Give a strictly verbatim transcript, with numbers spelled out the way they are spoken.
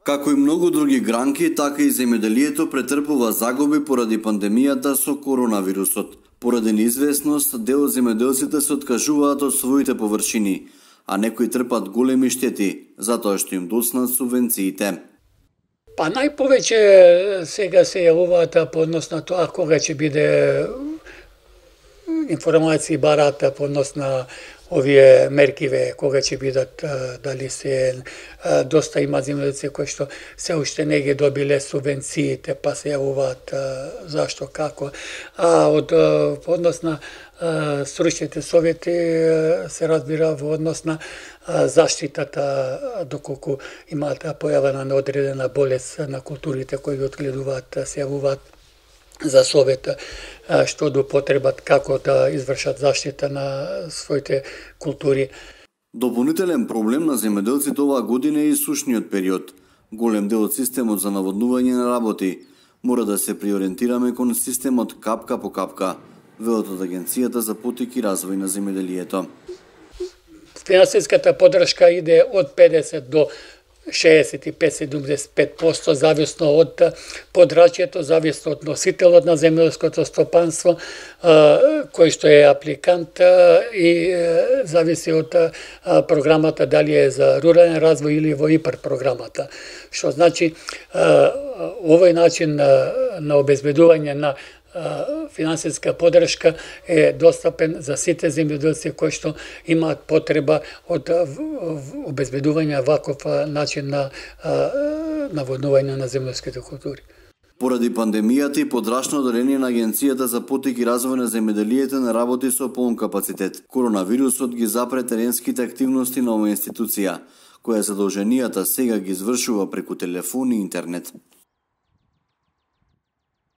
Како и многу други гранки, така и земјоделието претрпува загуби поради пандемијата со коронавирусот. Поради неизвестност, дел земјоделците се откажуваат од своите површини, а некои трпат големи штети, затоа што им доцнат субвенциите. Па најповеќе сега се јавуваат по однос на тоа кога ќе биде информации барата по однос на овие меркиве, кога ќе бидат, дали се доста има земјоделци кои што се уште не ги добиле субвенциите, па се јавуваат зашто, како. А од по однос на стручните совети се разбира во однос на заштитата, доколку имаат појавена неодредена болест на културите кои ги одгледуваат, се јавуваат за совет што до потребат како да извршат заштита на своите култури. Дополнителен проблем на земјоделците оваа година е и сушниот период. Голем дел од системот за наводнување не работи. Мора да се приориентираме кон системот капка по капка, велат од Агенцијата за поттик и развој на земјоделието. Финансиската поддршка иде од педесет до шеесет и пет до седумдесет и пет проценти зависно од подрачјето, зависно од носителот на земјоделското стопанство, кој што е апликант и зависи од програмата дали е за рурален развој или во ИПАР програмата. Што значи овој начин на обезбедување на финансиска поддршка е достапен за сите земјоделци кои што имаат потреба од обезбедување ваков начин на наводнување на земјоделските култури. Поради пандемијата и подрачно оделение на Агенцијата за поттик и развој на земјоделието не работи со полн капацитет. Коронавирусот ги запре теренските активности на оваа институција, која задолженијата сега ги извршува преку телефон и интернет.